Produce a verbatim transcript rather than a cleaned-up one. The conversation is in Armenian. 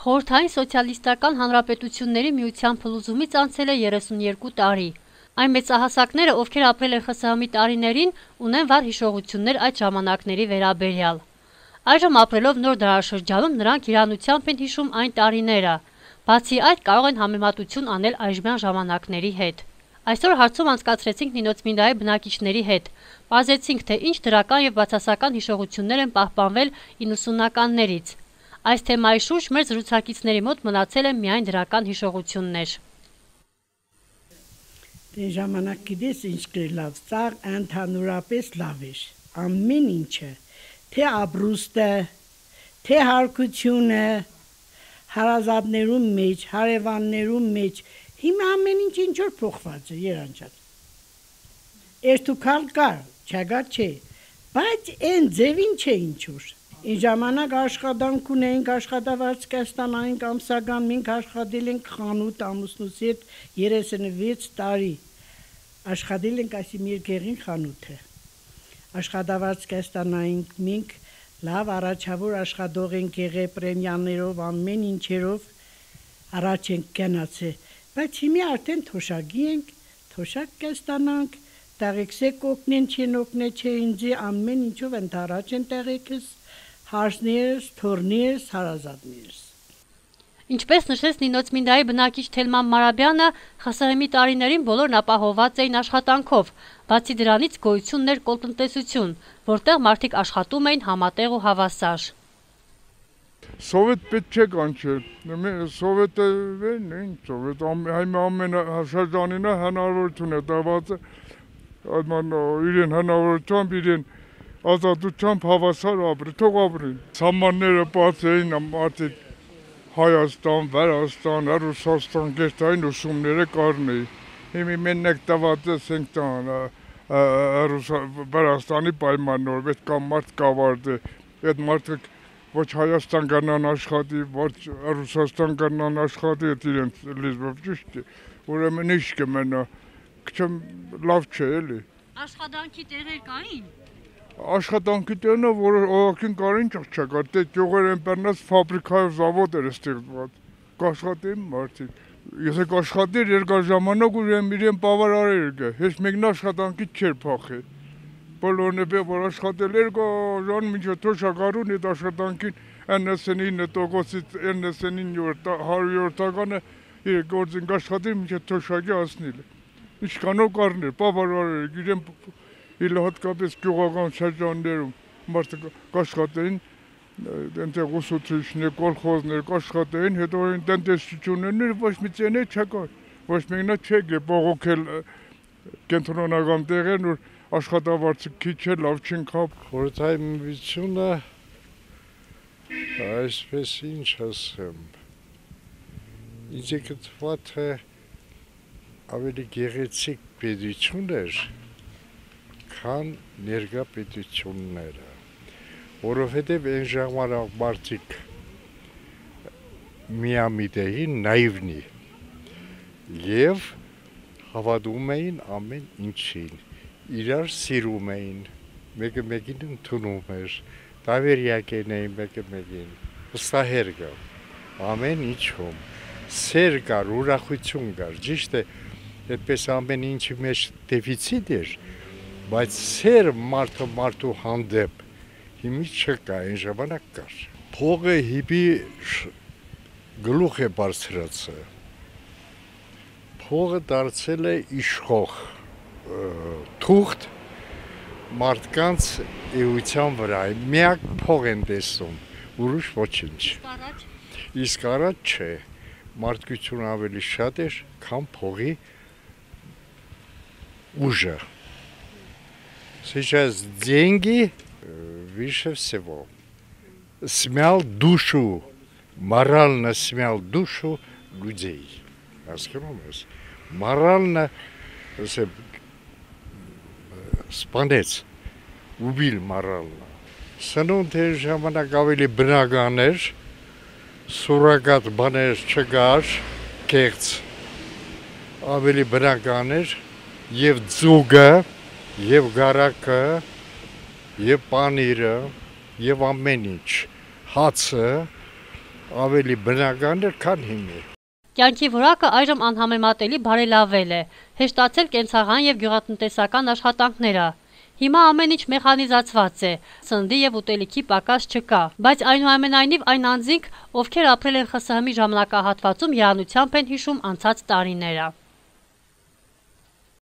Խորհրդային սոցիալիստական հանրապետությունների միության փլուզումից անցել է երեսունյոթ տարի։ Այն մեծահասակները, ովքեր ապրել են ԽՍՀՄ-ի տարիներին, ունեն վառ հիշողություններ այդ ժամանակների վերաբերյալ։ Այժմ ապրելով նոր դարաշրջանում նրանք իրանությամբ են հիշում այն տարիները։ Բացի այդ, կարող են համեմատություն անել այժմյան ժամանակների հետ։ Այսօր հարցում անցկացրեցինք Նինոց-Մինդայի բնակիչների հետ։ Պարզեցինք, թե ինչ դրական եւ բացասական հիշողություններ են պահպանվել իննսունականներից։ Այս թեմայի շուրջ մեր զրուցակիցների մոտ մնացել են միայն դրական հիշողություններ։ Դե ժամանակ գիտես ինչ լավ, ծաղ ընդհանուրապես լավ էր, ամեն ինչը, թե ապրուստը, թե հարկությունը, հարազատներում մեջ, հարևաններում մեջ, հիմա ամեն ինչ ինչ որ փոխված է, Երանջան։ Երթուքալ կար, չագար չէ, բայց այն ձևին չէ ինչ որ։ Այն ժամանակ աշխատանք ունեինք, աշխատավարձ կստանայինք ամսական, մենք աշխատել ենք խանութ ամուսնուս հետ երեսունվեց տարի։ Աշխատել ենք այսի մեր գեղին խանութը։ Աշխատավարձ կստանայինք, մենք լավ առաջավոր աշխատող ենք եղել պրեմիաներով, ամեն ինչերով առաջ ենք գնացել, բայց հիմա արդեն թոշակի ենք, թոշակ կստանանք, տեղեքսեք օգնեն չեն օգնե չէ ինձի ամեն ինչով ընդառաջ են տեղեքս, հարսներս, թորներս, հարազատներս։ Ինչպես նշեց Նինոց-Մինդայի բնակիչ Թելման Մարաբյանը, ԽՍՀՄ-ի տարիներին բոլորն ապահովված էին աշխատանքով, բացի դրանից գոյություն ուներ կոլտնտեսություն, որտեղ մարդիկ աշխատում էին համատեղ ու հավասար։ Սովետ պետք չէ կանչել, սովետը ինչ սովետ, ամենաշրջանին հնարավորություն է տված իրեն հնարավորությամբ, իրեն ազատությամբ հավասար ապրի, թող ապրին։ Սահմանները բաց էին, մարդիկ Հայաստան, Վրաստան, Ռուսաստան, գերտային ուսումները կարն էին։ Հիմա մենակ տված ենք տան Վրաստանի պայմաններով, այդ կամ մարդ կավարտի, այդ մարդը ոչ Հայաստան գնան աշխատի, ոչ Ռուսաստան գնան աշխատի, այդ իրենց լեզվով ճիշտ է, ուրեմն ինչ կմնա, քչեմ լավ չէ էլի։ Աշխատանքի տեղեր կային։ Աշխատանքի տեղը, որ օղակին կարին չկար, դե գյուղեր են բռնած ֆաբրիկայով զավոդ էր ստեղծված, կաշխատեին մարդիկ։ Եթե կաշխատեր երկար ժամանակ ուրեմն իրեն բավարարեր գա, հեչ մեկն աշխատանքի չէր փախել։ Բոլորն է որ աշխատել էր ժան մինչև թոշակարուն այդ աշխատանքին իննսունինը տոկոսից իննսունինը հարյուրտականը իր գործին աշխատել մինչև թոշակի հասնել։ Ինչքանով կառներ, բավարարեր իրեն Իլ հատկապես գյուղական շրջաններում մարդը կաշխատեին, այնտեղ ուսուցիչներ, կոլխոզներ կաշխատեին, հետո այն տնտեսություններ ոչ մի ծենե չկար, ոչ մեկնա չէ բողոքել կենտրոնական տեղերն, որ աշխատավարձը քիչ է, լավ չեն կապ։ Խորհրդային միությունը, այսպես ինչ ասեմ, ինձ է գտված է ավելի գեղեցիկ պետություն էր, քան ներկա պետությունները, որովհետև այն ժամանակ մարդիկ միամիտ էին, նայվնի եւ հավատում էին ամեն ինչին, իրար սիրում էին, մեկը մեկին ընդունում էր, դավերյակ էին մեկը մեկին, վստահեր կար, ամեն ինչում, սեր կար, ուրախություն կար, ճիշտ է, այդպես ամեն ինչի մեջ դեֆիցիտ էր, բայց սեր մարդը մարդու հանդեպ հիմի չկա, այն ժամանակ կար։ Փողը հիպի գլուխ է բարձրացել, փողը դարձել է իշխող թուղթ մարդկանց էության վրա, միակ փող են տեսում, ուրիշ ոչինչ։ Իսկ առաջ չէ, մարդկություն ավելի շատ էր, քան փողի ուժը։ Сейчас деньги выше всего. Смял душу, морально смял душу людей. Морально սպանեց, убил морально. Սնունդ էր ժամանակ ավելի բնական էր, սուրակատ բաներ չկար, կեղծ, ավելի բնական էր, և ձուգը, և գարակը, և պանիրը, և ամեն ինչ, հացը, ավելի բնական էր, քան հիմա։ Կյանքի որակը այժմ անհամեմատելի բարելավել է, հեշտացել կենցաղային եւ գյուղատնտեսական աշխատանքները։ Հիմա ամեն ինչ մեխանիզացված է, սննդի եւ ուտելիքի պակաս չկա, բայց այնուամենայնիվ այն անձինք, ովքեր ապրել են ԽՍՀՄ ժամանակահատվածում, երանությամբ են հիշում անցած տարիները։